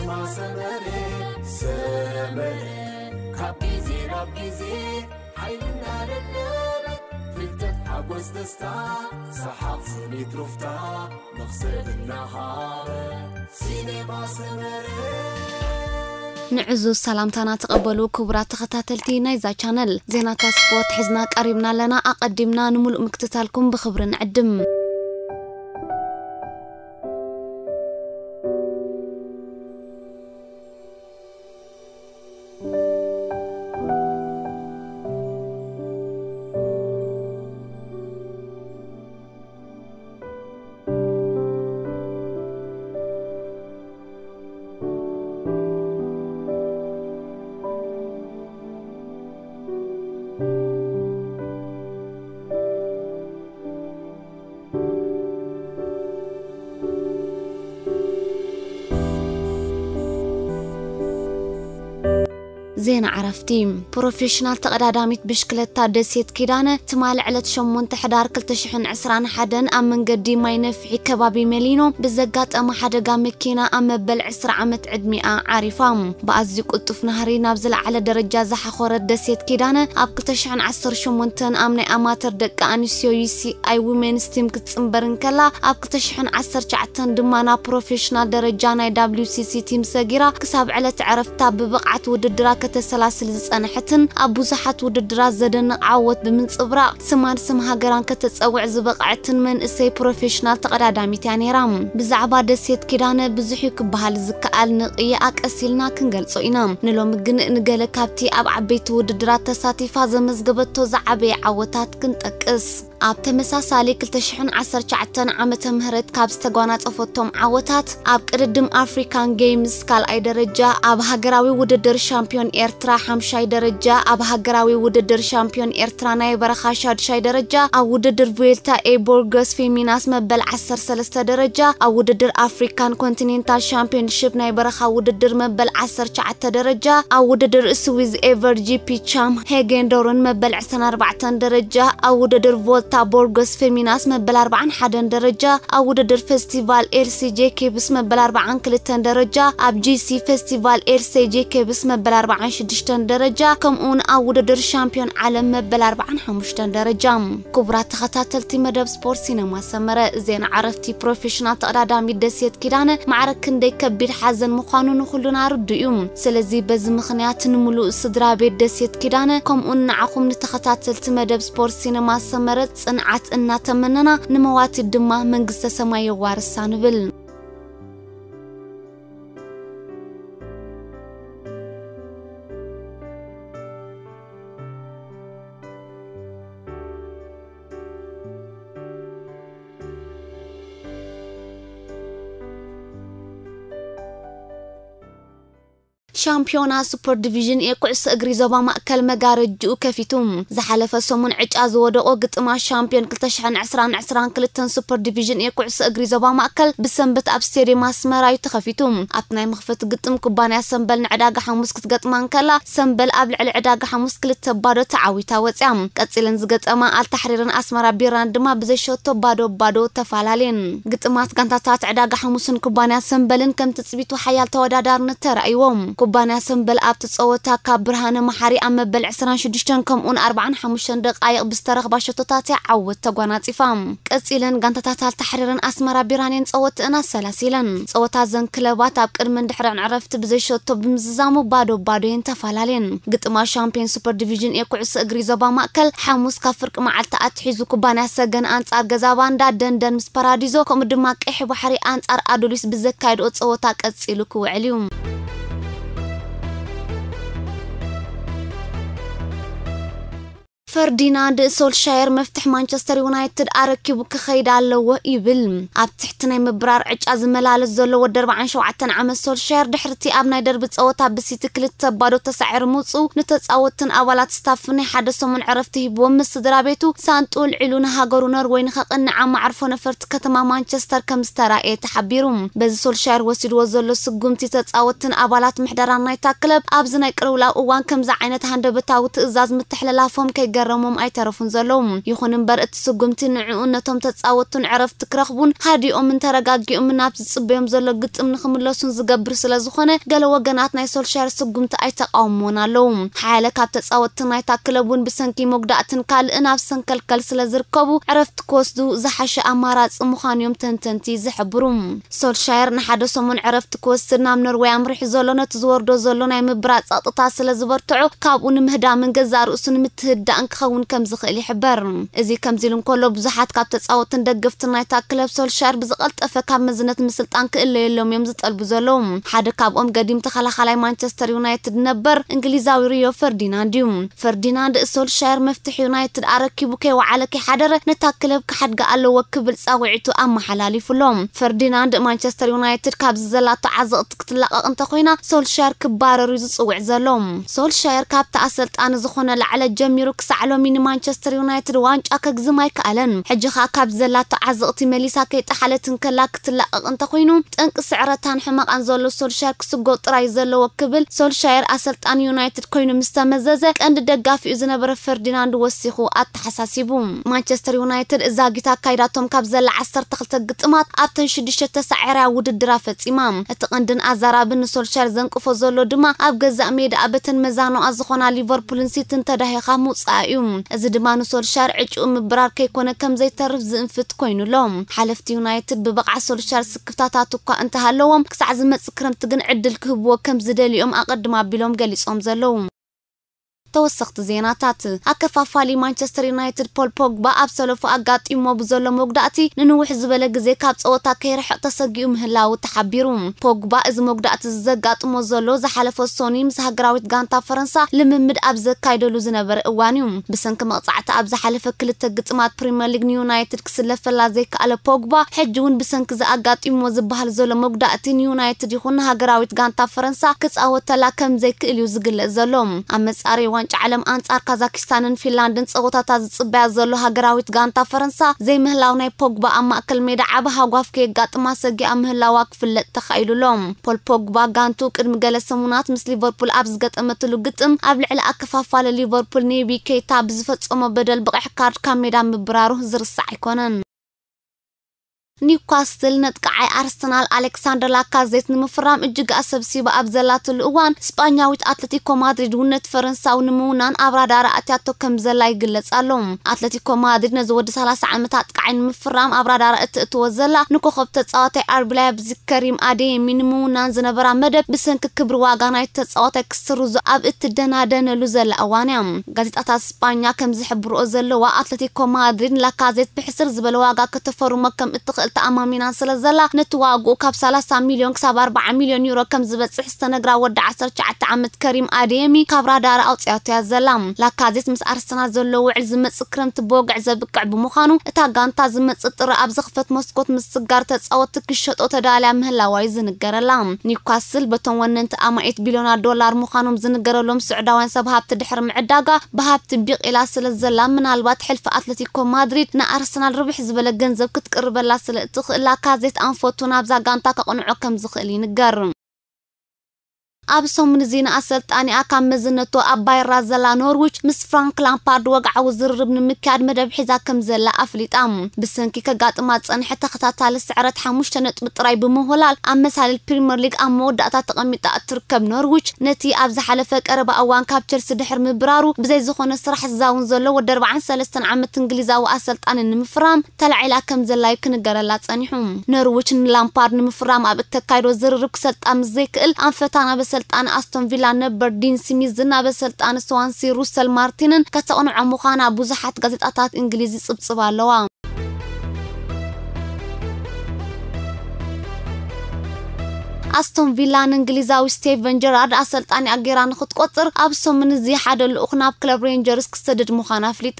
ሰመረ ሰመረ ካብ ግዜ ናብ ግዜ ሓይልና ደለበ ፍልጠት ሓጎስ ደስታ ሰሓቕ ስኒት ሩፍታ መኽሰብ እናሃበ ሲኔማ ሰመረ። ንዕዙዝ ሰላምታና ተቐበሉ ክቡራት ተኸታተልቲ ናይዛ ቻነል። ዜናታት ስፖርት ሒዝና ቀሪብና ኣለና። ኣቐዲምና ንምሉእ ምክትታልኩም ብኽብሪ ንዕድም። ዜና ዕረፍቲ። ፕሮፌሽናል ተቐዳዳሚት ብሽክለታ ደሴት ኪዳነ ትማሊ ዕለት ሸሞንተ ሕዳር ክልተ ሽሕን ዕስራን ሓደን ኣብ መንገዲ ማይ ነፍሒ ከባቢ መሊኖ ብዘጋጠመ ሓደጋ መኪና ኣብ መበል ዕስራ ዓመት ዕድሚኣ ዓሪፋ። ብኣዝዩ ቅልጡፍ ናህሪ ናብ ዝለዓለ ደረጃ ዝሓኾረት ደሴት ኪዳነ ኣብ ክልተ ሽሕን ዓሰርተ ሸሞንተን ኣብ ናይ ኣማተር ደቂ ኣንስትዮ ዩ ሲ ኣይ ዊሜንስ ቲም ክትጽንበር እንከላ፣ ኣብ ክልተ ሽሕን ዓሰርተ ትሽዓተን ድማ ናብ ፕሮፌሽናል ደረጃ ናይ ደብሊው ሲ ሲ ቲም ሰጊራ ክሳብ ዕለት ዕረፍታ ብብቕዓት ውድድራ ከተሰላስል ዝጸንሐትን ኣብ ብዙሓት ውድድራት ዘደንቕ ዓወት ብምንጽብራቕ ስማን ስም ሃገራን ከተጸውዕ ዝበቕዐትን መንእሰይ ፕሮፌሽናል ተቐዳዳሚት እያ ነይራ። ብዛዕባ ደሴት ኪዳነ ብዙሕ እዩ ክበሃል ዝከኣል፣ ንቕይኣ ቀስ ኢልና ክንገልጾ ኢና። ንሎሚ ግን ንገለ ካብቲ ኣብ ዓበይቲ ውድድራት ተሳቲፋ ዘመዝገበቶ ዝዓበየ ዓወታት ክንጠቅስ። ኣብ ተመሳሳሊ ክልተ ሽሕን ዓሰርተ ትሽዓተን ዓመተ ምህረት ካብ ዝተጓናጸፈቶም ዓወታት፣ ኣብ ቅድድም ኣፍሪካን ጌምስ ካልኣይ ደረጃ፣ ኣብ ሃገራዊ ውድድር ሻምፒዮን ኤርትራ ሓምሻይ ደረጃ፣ ኣብ ሃገራዊ ውድድር ሻምፒዮን ኤርትራ ናይ በረኻ ሻድሻይ ደረጃ፣ ኣብ ውድድር ቪልታ ኤ ቦርጎስ ፌሚናስ መበል ዓሰርተ ሰለስተ ደረጃ፣ ኣብ ውድድር ኣፍሪካን ኮንቲኔንታል ሻምፒዮንሺፕ ናይ በረኻ ውድድር መበል ዓሰርተ ትሽዓተ ደረጃ፣ ኣብ ውድድር ስዊዝ ኤቨር ጂ ፒ ቻም ሄጌንዶርን መበል ዕስራን ኣርባዕተን ደረጃ፣ ኣብ ውድድር ቮልታ ቦርጎስ ፌሚናስ መበል ኣርባዓን ሓደን ደረጃ፣ ኣብ ውድድር ፌስቲቫል ኤል ሲ ጄ ኬብስ መበል ኣርባዓን ክልተን ደረጃ፣ ኣብ ጂ ሲ ፌስቲቫል ኤል ሲ ጄ ኬብስ መበል ኣርባዓን ሽዱሽተን ደረጃ፣ ከምኡውን ኣብ ውድድር ሻምፒዮን ዓለም መበል ኣርባዓን ሓሙሽተን ደረጃ። ክቡራት ተኸታተልቲ መደብ ስፖርት ሲነማ ሰመረ፣ ዜና ዕረፍቲ ፕሮፌሽናል ተቐዳዳሚት ደሴት ኪዳነ ማዕረ ክንደይ ከቢድ ሓዘን ምዃኑ ንኹሉና ርዱእ እዩ። ስለዚ በዚ ምኽንያት ንምሉእ ስድራ ቤት ደሴት ኪዳነ ከምኡን ንዓኹም ንተኸታተልቲ መደብ ስፖርት ሲነማ ሰመረ ጽንዓት እናተመነና፣ ንመዋቲት ድማ መንግስተ ሰማይ የዋርሳ ንብል። ሻምፒዮና ሱፐር ዲቪዥን ኤ ኩዕሶ እግሪ ዞባ ማእከል መጋረጅኡ ከፊቱ። ዝሓለፈ ሰሙን ዕጫ ዝወደቖ ግጥማት ሻምፒዮን ክልተ ሽሕን ዕስራን ዕስራን ክልተን ሱፐር ዲቪዥን ኤ ኩዕሶ እግሪ ዞባ ማእከል ብሰንበት ኣብ ስቴድየም ኣስመራ እዩ ተኸፊቱ። ኣብቲ ናይ መኽፈቲ ግጥም ኩባንያ ሰምበል ንዕዳጋ ሓሙስ ክትገጥማ እንከላ፣ ሰምበል ኣብ ልዕሊ ዕዳጋ ሓሙስ ክልተ ባዶ ተዓዊታ ወጽያ። ቀጺለን ዝገጠማ ኣልታሕሪርን ኣስመራ ቢራን ድማ ብዘይ ሸቶ ባዶ ባዶ ተፈላለየን። ግጥማት ጋንታታት ዕዳጋ ሓሙስን ኩባንያ ሰምበልን ከም ትጽቢቱ ሓያል ተወዳዳርነት ተራእይዎም። ኩባንያ ሰምበል ኣብቲ ጸወታ ካብ ብርሃነ መሓሪ ኣብ መበል ዕስራን ሽዱሽተን ከምኡን ኣርባዓን ሓሙሽተን ደቃይቕ ብዝተረኽባ ሸቶታት እያ ዓወት ተጓናጺፋ። ቀጺለን ጋንታታት ኣልታሕሪርን ኣስመራ ቢራን እየን ጸወትአን ኣሰላሲለን። ጸወታ እዘን ክለባት ኣብ ቅድምን ድሕርን ዕረፍቲ ብዘይ ሸቶ ብምዝዛሙ ባዶ ባዶ እየን ተፈላለየን። ግጥማ ሻምፒዮን ሱፐር ዲቪዥን ኤ ኩዕሶ እግሪ ዞባ ማእከል ሓሙስ ካብ ፍርቂ መዓልቲ ኣትሒዙ ኩባንያ ሰገን ኣንጻር ገዛ ባንዳ ደንደን ምስ ፓራዲዞ ከምኡ ድማ ቀይሕ ባሕሪ ኣንጻር ኣዱሊስ ብዘካየድኦ ጸወታ ቀጺሉ ክውዕል እዩ። ፈርዲናንድ ሶልሻየር መፍትሕ ማንቸስተር ዩናይትድ ኣረኪቡ ክኸይድ ኣለዎ ይብል። ኣብ ትሕቲ ናይ ምብራር ዕጫ ዝመላለስ ዘሎ ወዲ ኣርባዓን ሸውዓተን ዓመት ሶልሻየር ድሕርቲ ኣብ ናይ ደርቢ ጸወታ ብሲቲ ክልተ ባዶ ተሳዒሩ ምውጽኡ ንተጻወትን ኣባላት ስታፍ ናይ ሓደ ሰሙን ዕረፍቲ ሂብዎም ምስ ስድራ ቤቱ ሳንጡ ልዒሉ ንሃገሩ ኖርወይ ንኸቕንዕ ኣብ መዓርፎ ነፈርቲ ከተማ ማንቸስተር ከም ዝተራእየ ተሓቢሩ። በዚ ሶልሻየር ወሲድዎ ዘሎ ስጉምቲ ተጻወትን ኣባላት ምሕደራን ናይታ ክለብ ኣብዚ ናይ ቅልውላው እዋን ከምዚ ዓይነት ሃንደበታዊ ትእዛዝ ምትሕልላፎም ከይገ ክፈረሞም ኣይተረፉን ዘለዉ። ይኹን እምበር እቲ ስጉምቲ ንዕኡ ነቶም ተጻወቱን ዕረፍቲ ክረኽቡን ሃዲኦምን ተረጋጊኦምን ናብ ዝጽበዮም ዘሎ ግጥም ንኽምለሱን ዝገብር ስለ ዝኾነ ገለ ወገናት ናይ ሶልሻየር ስጉምቲ ኣይተቃወምዎን ኣለዉ። ሓያለ ካብ ተጻወትቲ ናይታ ክለብ እውን ብሰንኪ መጉዳእትን ካልእን ኣብ ሰንከልከል ስለ ዝርከቡ ዕረፍቲ ክወስዱ ዝሓሸ ኣማራጺ ምዃኑ እዮም ተንተንቲ ዝሕብሩ። ሶልሻየር ንሓደ ሰሙን ዕረፍቲ ክወስድ ናብ ኖርወይ ኣምሪሑ ዘሎ ነቲ ዝወርዶ ዘሎ ናይ ምብራር ጸቕጥታት ስለ ዝበርትዖ ካብኡ ንምህዳምን ገዛእ ርእሱ ንምትህዳእን ክኸውን ከም ዝኽእል ይሕበር። እዚ ከምዚ ኢሉ እንከሎ ብዙሓት ካብ ተጻወትን ደገፍትን ናይታ ክለብ ሶልሻየር ብዝቐልጠፈ ካብ መዝነት ምስልጣን ክእለየሎም እዮም ዝጠልቡ ዘለዉ። ሓደ ካብኦም ገዲም ተኸላኻላይ ማንቸስተር ዩናይትድ ነበር እንግሊዛዊ ሪዮ ፈርዲናንድ እዩ። ፈርዲናንድ ሶልሻየር መፍትሒ ዩናይትድ ኣረኪቡ ከይወዓለ ከይሓደረ ነታ ክለብ ክሓድጋ ኣለዎ ክብል ጻውዒቱ ኣመሓላሊፉ ኣሎ። ፈርዲናንድ ማንቸስተር ዩናይትድ ካብዚ ዘላቶ ዓዘቕቲ ክትላቐቕ እንተኾይና ሶልሻየር ክባረር እዩ ዝጽውዕ ዘሎ። ሶልሻየር ካብቲ ኣሰልጣኒ ዝኾነ ላዕለ ጀሚሩ ክሳዕ ሎሚ ንማንቸስተር ዩናይትድ ዋንጫ ከግዝም ኣይከኣለን። ሕጂ ኸኣ ካብ ዘላቶ ዓዘቕቲ መሊሳ ከይጠሓለት እንከላ ክትላቐቕ እንተኾይኑ ጠንቂ ስዕረታን ሕመቓን ዘሎ ሶልሻየር ክስጎ ጥራይ ዘለዎ ክብል ሶልሻየር ኣሰልጣኒ ዩናይትድ ኮይኑ ምስ ተመዘዘ ቀንዲ ደጋፊኡ ዝነበረ ፈርዲናንድ ወሲኹ ኣተሓሳሲቡ። ማንቸስተር ዩናይትድ እዛ ጊታ ኣካይዳቶም ካብ ዘላ ዓሰርተ ክልተ ግጥማት ኣብተን ሽዱሽተ ተሳዒራ ውድድራ ፈጺማ። እቲ ቀንድን ኣዛራብን ንሶልሻየር ዘንቅፎ ዘሎ ድማ ኣብ ገዛእ ሜዳ ኣበተን መዛኖኣ ዝኾና ሊቨርፑልን ሲትን ተዳሂኻ ምውጻኣ እዩ። እዚ ድማ ንሶልሻየር ዕጭኡ ምብራር ከይኮነ ከም ዘይተርፍ ዝእንፍት ኮይኑ ኣሎ። ሓለፍቲ ዩናይትድ ብብቕዓት ሶልሻየር ስክፍታታት እኳ እንተሃለዎም ክሳዕ ዝመጽእ ክረምቲ ግን ዕድል ክህብዎ ከም ዝደልዮም ኣቐድም ኣቢሎም ገሊጾም ዘለዉ። ተወሰኽቲ ዜናታት። ኣከፋፋሊ ማንቸስተር ዩናይትድ ፖል ፖግባ ኣብ ሰለፉ ኣጋጢሞ ብዘሎ መጉዳእቲ ንንውሕ ዝበለ ግዜ ካብ ጸወታ ከይርሕቕ ተሰጊኡ ምህላዉ ተሓቢሩ። ፖግባ እዚ መጉዳእቲ ዘጋጥሞ ዘሎ ዝሓለፈ ሶኒ ምስ ሃገራዊት ጋንታ ፈረንሳ ልምምድ ኣብ ዘካይደሉ ዝነበረ እዋን እዩ። ብሰንኪ መቕጻዕቲ ኣብ ዝሓለፈ ክልተ ግጥማት ፕሪምየር ሊግ ንዩናይትድ ክስለፈላ ዘይከኣለ ፖግባ ሕጂ እውን ብሰንኪ ዝኣጋጢሞ ዝበሃል ዘሎ መጉዳእቲ ንዩናይትድ ይኹን ንሃገራዊት ጋንታ ፈረንሳ ክጻወተላ ከም ዘይክእል እዩ ዝግለጽ ዘሎ። ኣብ መጻረይ ዋንጫ ዓለም ኣንጻር ካዛኪስታንን ፊንላንድን ጸወታታት ዝጽበያ ዘሎ ሃገራዊት ጋንታ ፈረንሳ ዘይምህላው ናይ ፖግባ ኣብ ማእከል ሜዳ ዓቢ ሃጓፍ ከየጋጥማ ሰጊኣ ምህላዋ ክፍለጥ ተኻኢሉ ኣሎ። ፖል ፖግባ ጋንቱ ቅድሚ ገለ ሰሙናት ምስ ሊቨርፑል ኣብ ዝገጠመትሉ ግጥም ኣብ ልዕሊ ኣከፋፋሊ ሊቨርፑል ኔቢ ኬታ ብዝፈጸሞ በደል ብቐሕ ካርድ ካብ ሜዳ ምብራሩ ዝርሳዕ ኣይኮነን። ኒውካስትል ነጥቃዓይ ኣርሰናል ኣሌክሳንደር ላካዜት ንምፍራም እጅግ ኣሰብሲባ ኣብ ዘላትሉ እዋን ስጳኛዊት ኣትለቲኮ ማድሪድ እውን ነቲ ፈረንሳዊ ንምውናን ኣብ ራዳር ኣትያቶ ከም ዘላ ይግለጽ ኣሎ። ኣትለቲኮ ማድሪድ ነዚ ወዲ ሰላሳ ዓመት ኣጥቃዓይ ንምፍራም ኣብ ራዳር እትእትዎ ዘላ ንኮኸብ ተጻዋታይ ኣርቢ ላይፕዚግ ከሪም ኣዴየሚ ንምውናን ዝነበራ መደብ ብሰንኪ ክብሪ ዋጋ ናይቲ ተጻዋታይ ክስርዞ ኣብ እትደናደነሉ ዘላ እዋን እያ። ጋዜጣታት ስጳኛ ከም ዝሕብርኦ ዘለዋ ኣትለቲኮ ማድሪድ ንላካዜት ብሕስር ዝበለ ዋጋ ከተፈርሞ ከም እትኽእል ተኣማሚና ስለ ዘላ ነቲ ዋግኡ ካብ ሰላሳ ሚልዮን ክሳብ ኣርባዓ ሚልዮን ዩሮ ከም ዝበጽሕ ዝተነግራ ወዲ ዓሰርተ ትሽዓተ ዓመት ከሪም ኣዴየሚ ካብ ራዳር ኣውጽያቶ እያ ዘላ። ላካዜት ምስ ኣርሰናል ዘሎ ውዕል ዝመጽእ ክረምቲ ብወግዒ ዘብቅዕ ብምዃኑ እታ ጋንታ ዝመጽእ ጥሪ ኣብ ዝኽፈት መስኮት ምስጋር ተጻወትቲ ክሸጦ ተዳልያ ምህላዋ እዩ ዝንገረላ። ኒውካስል በቶም ወነንቲ ኣማኢት ቢልዮናት ዶላር ምዃኖም ዝንገረሎም ስዑዳውያን ሰብ ሃብቲ ድሕሪ ምዕዳጋ ብሃብቲ ቢቒላ ስለ ዘላ ምናልባት ሕልፊ ኣትለቲኮ ማድሪድ ንኣርሰናል ርብሕ ዝበለ ገንዘብ ክትቅርበላ ስለ እትኽእል ላካዜት ኣንፈቱ ናብዛ ጋንታ ከቕንዖ ከም ዝኽእል ይንገር። ኣብ ሰሙን እዚ ንኣሰልጣኒኣ ካብ መዝነቱ ኣባይራ ዘላ ኖርዊች ምስ ፍራንክ ላምፓርድ ወግዓዊ ዝርርብ ንምክያድ መደብ ሒዛ ከም ዘላ ኣፍሊጣ። ብሰንኪ ከጋጥማ ዝጸንሐ ተኸታታሊ ስዕረት ሓሙሽተ ነጥቢ ጥራይ ብምውህላል ኣብ መሳልል ፕሪምየር ሊግ ኣብ መወዳእታ ተቐሚጣ እትርከብ ኖርዊች ነቲ ኣብ ዝሓለፈ ቀረባ እዋን ካብ ቸልሲ ድሕሪ ምብራሩ ብዘይ ዝኾነ ስራሕ ዝዛውን ዘሎ ወዲ ኣርባዓን ሰለስተን ዓመት እንግሊዛዊ ኣሰልጣኒ ንምፍራም ተላዒላ ከም ዘላ እዩ ክንገረላ ጸኒሑ። ኖርዊች ንላምፓርድ ንምፍራም ኣብ እተካይዶ ዝርርብ ክሰልጣ ምስ ዘይክእል ኣንፈታ ናብ ኣሰልጣኒ ኣስቶን ቪላ ነበር ዲን ስሚዝን ናብ ኣሰልጣኒ ስዋንሲ ሩሰል ማርቲንን ከተቕንዖ ምዃና ብዙሓት ጋዜጣታት እንግሊዝ ይጽብጽባ ኣለዋ። ኣስቶን ቪላ ንእንግሊዛዊ ስቴቨን ጀራርድ ኣሰልጣኒ ኣጌራ ንክትቆጽር ኣብ ሰሙን እዚ ሓደ ልኡኽ ናብ ክለብ ሬንጀርስ ክሰድድ ምዃና ኣፍሊጣ።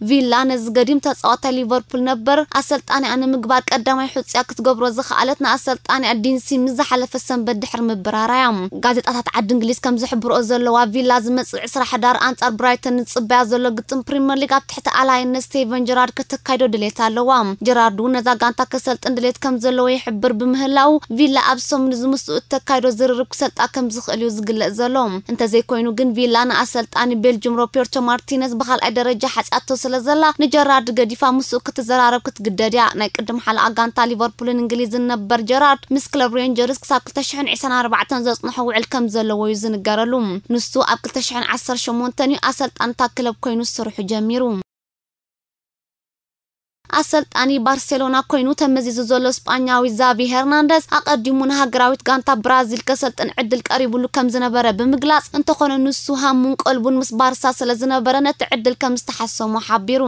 ቪላ ነዚ ገዲም ተጻዋታይ ሊቨርፑል ነበር ኣሰልጣኒኣ ንምግባር ቀዳማይ ሕጹያ ክትገብሮ ዝኸኣለት ንኣሰልጣኒኣ ዲን ስሚዝ ዝሓለፈ ሰንበት ድሕሪ ምብራራ እያ። ጋዜጣታት ዓዲ እንግሊዝ ከም ዝሕብርኦ ዘለዋ ቪላ ዝመጽእ ዕስራ ሕዳር ኣንጻር ብራይተን ንጽበያ ዘሎ ግጥም ፕሪምየር ሊግ ኣብ ትሕቲ ኣላይነት ስቴቨን ጀራርድ ከተካይዶ ድሌት ኣለዋ። ጀራርድ እውን ነዛ ጋንታ ከሰልጥን ድሌት ከም ዘለዎ ይሕብር ብምህላው ቪላ ኣብ ሰሙን እዚ እተካይዶ ዝርርብ ክሰልጣ ከም ዝኽእል እዩ ዝግለጽ ዘሎ። እንተዘይኮይኑ ግን ቪላ ንኣሰልጣኒ ቤልጅም ሮቤርቶ ማርቲነዝ ብኻልኣይ ደረጃ ሓጺኣቶ ስለ ዘላ ንጀራርድ ገዲፋ ምስኡ ክትዘራረብ ክትግደድ እያ። ናይ ቅድም ሓለቓ ጋንታ ሊቨርፑልን እንግሊዝን ነበር ጀራርድ ምስ ክለብ ሬንጀርስ ክሳብ ክልተ ሽሕን ዕስራን ኣርባዕተን ዘጽንሖ ውዕል ከም ዘለዎ እዩ ዝንገረሉ። ንሱ ኣብ ክልተ ሽሕን ዓሰርተ ሸሞንተን እዩ ኣሰልጣኒ እታ ክለብ ኮይኑ ስርሑ ጀሚሩ። ኣሰልጣኒ ባርሴሎና ኮይኑ ተመዚዙ ዘሎ ስጳኛዊ ዛቪ ሄርናንደዝ ኣቐዲሙ ንሃገራዊት ጋንታ ብራዚል ከሰልጥን ዕድል ቀሪቡሉ ከም ዝነበረ ብምግላጽ፣ እንተኾነ ንሱ ሃሙን ቀልቡን ምስ ባርሳ ስለ ዝነበረ ነቲ ዕድል ከም ዝተሓሰሞ ሓቢሩ።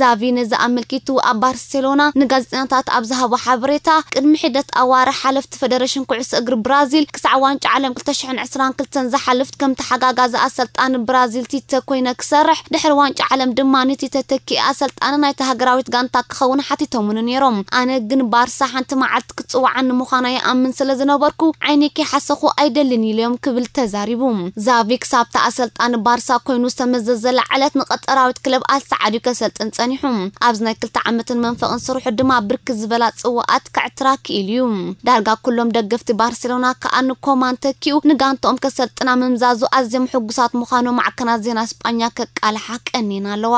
ዛቪ ነዚ ኣመልኪቱ ኣብ ባርሴሎና ንጋዜጠኛታት ኣብ ዝሃቦ ሓበሬታ፣ ቅድሚ ሒደት ኣዋርሕ ሓለፍቲ ፈደረሽን ኩዕሶ እግሪ ብራዚል ክሳዕ ዋንጫ ዓለም ክልተ ሽሕን ዕስራን ክልተን ዝሓልፍ ከም ተሓጋጋዚ ኣሰልጣኒ ብራዚል ቲተ ኮይነ ክሰርሕ፣ ድሕሪ ዋንጫ ዓለም ድማ ንቲተ ተኪኢ ኣሰልጣኒ ናይታ ሃገራዊት ጋንታ ክኸውን ሓቲቶምኒ ነይሮም። ኣነ ግን ባርሳ ሓንቲ መዓልቲ ክትጽውዓኒ ምዃና ይኣምን ስለ ዝነበርኩ ዓይነይ ከይሓሰኹ ኣይደልን ኢለዮም ክብል ተዛሪቡ። ዛቪ ክሳብታ ኣሰልጣኒ ባርሳ ኮይኑ ዝተመዘዘላ ዕለት ንቀጠራዊት ክለብ ኣልሳዓድ እዩ ከሰልጥን ጸኒሑ። ኣብዚ ናይ ክልተ ዓመትን መንፈቕን ስርሑ ድማ ብርክት ዝበላ ጽዋኣት ከዕትራ ክኢሉ እዩ። ዳርጋ ኩሎም ደገፍቲ ባርሴሎና ከኣ ንኮማን ተኪኡ ንጋንትኦም ከሰልጥና ምምዛዙ ኣዝዮም ሕጉሳት ምዃኖም ማዕከናት ዜና ስጳኛ ከቃልሓ ቀኒና ኣለዋ።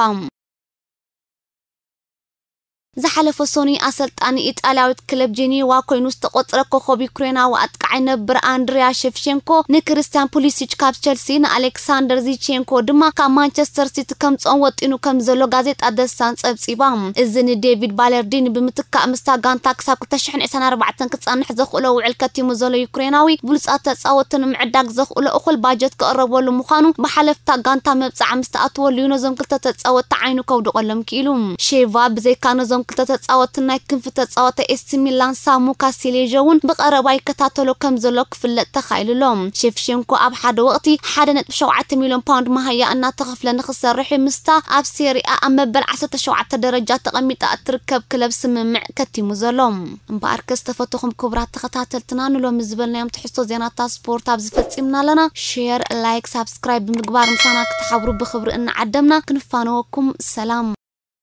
ዝሓለፈ ሶኒ ኣሰልጣኒ ኢጣልያዊት ክለብ ጄኔዋ ኮይኑ ዝተቖጽረ ኮኾብ ዩክሬናዊ ኣጥቃዓይ ነብር ኣንድሪያ ሸፍሼንኮ ንክሪስቲያን ፑሊሲች ካብ ቸልሲ ንኣሌክሳንደር ዚቼንኮ ድማ ካብ ማንቸስተር ሲቲ ከምጽኦም ወጢኑ ከም ዘሎ ጋዜጣ ደሳን ጸብጺባ። እዚ ንዴቪድ ባለርዲኒ ብምትካእ ምስታ ጋንታ ክሳብ ክልተ ሽሕን ዕስራን ኣርባዕተን ክጸንሕ ዘኽእሎ ውዕል ከቲሙ ዘሎ ዩክሬናዊ ብሉጻት ተጻወትቲ ንምዕዳግ ዘኽእሎ እኹል ባጀት ክቕረበሉ ምዃኑ ብሓለፍታ ጋንታ መብጻዓ ምስ ተኣትወሉ እዩ ነዞም ክልተ ተጻወትቲ ዓይኑ ከውድቐሎም ክኢሉ። ሼቫ ብዘይካ ነዞም ክልተ ተጻወትቲ ናይ ክንፊ ተጻወተ ኤሲ ሚላን ሳሙ ካሲሌዥ እውን ብቐረባ ይከታተሎ ከም ዘሎ ክፍለጥ ተኻኢሉ ኣሎ። ሼፍሼንኮ ኣብ ሓደ ወቕቲ ሓደ ነጥቢ ሸውዓተ ሚልዮን ፓውንድ መሃያ እናተኸፍለ ንኽሰርሕ እዩ ምስታ ኣብ ሴሪኣ ኣብ መበል ዓሰርተ ሸውዓተ ደረጃ ተቐሚጣ እትርከብ ክለብ ስምምዕ ከቲሙ ዘሎ። እምበኣርከ ዝተፈተኹም ክቡራት ተኸታተልትና ንሎሚ ዝበልናዮም ትሕዝቶ ዜናታት ስፖርት ኣብዚ ፈጺምና ኣለና። ሼር፣ ላይክ፣ ሳብስክራይብ ብምግባር ምሳና ክትሓብሩ ብኽብሪ እናዓደምና ክንፋነወኩም ሰላም።